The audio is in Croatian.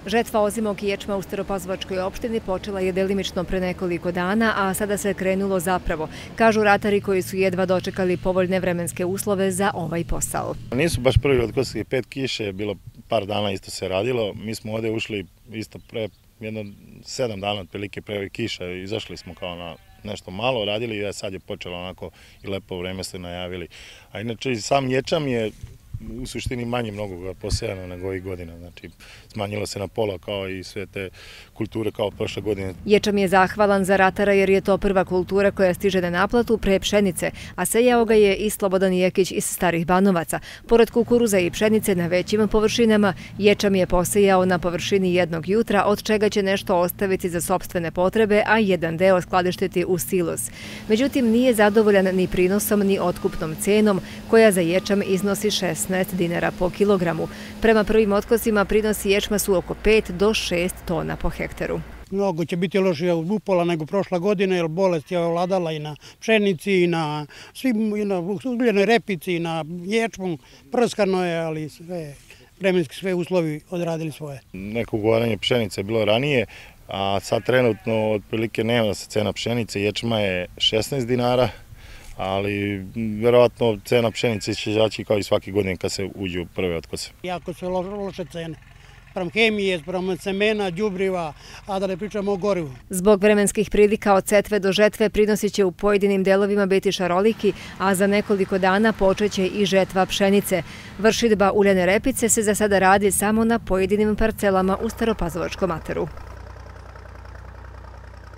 Žetva ozimog ječma u Staropazovačkoj opštini počela je delimično pre nekoliko dana, a sada se krenulo zapravo, kažu ratari koji su jedva dočekali povoljne vremenske uslove za ovaj posao. Nisu baš prvi od kosovskih 5 kiše, bilo par dana isto se radilo. Mi smo ovdje ušli isto pre jedno 7 dana otprilike pre ovih kiša, izašli smo kao na nešto malo radili i sad je počelo onako i lepo vreme ste najavili. A inače sam ječam je u suštini manje mnogo posejano nego ovih godina, znači smanjilo se na pola kao i sve te kulture kao prošle godine. Ječam je zahvalan za ratara jer je to prva kultura koja stiže na naplatu pre pšenice, a sejao ga je i Slobodan Jekić iz Starih Banovaca. Pored kukuruza i pšenice na većim površinama, ječam je posejao na površini jednog jutra, od čega će nešto ostaviti za sopstvene potrebe, a jedan deo skladištiti u silos. Međutim, nije zadovoljan ni prinosom ni otkupnom cenom, koja za ječam iznosi 16 dinara po kilogramu. Prema prvim otkosima prinosi ječma su oko 5 do 6 tona po hektaru. Mnogo će biti lošije upola nego prošla godina, jer bolest je ovladala i na pšenici, i na ugljenoj repici, i na ječmu. Prskano je, ali vremenski sve uslovi odradili svoje. Neko ugovaranje pšenice je bilo ranije, a sad trenutno otprilike nema se cena pšenice. Ječma je 16 dinara. Ali verovatno cena pšenice će izaći kao i svake godine kad se uđe u prve otkose. Jako su loše cene. Sprem hemije, sprem semena, đubriva, a da ne pričamo o gorivu. Zbog vremenskih prilika od setve do žetve prinosi će u pojedinim delovima biti šaroliki, a za nekoliko dana počeće i žetva pšenice. Vršidba uljane repice se za sada radi samo na pojedinim parcelama u Staropazovačkom ataru.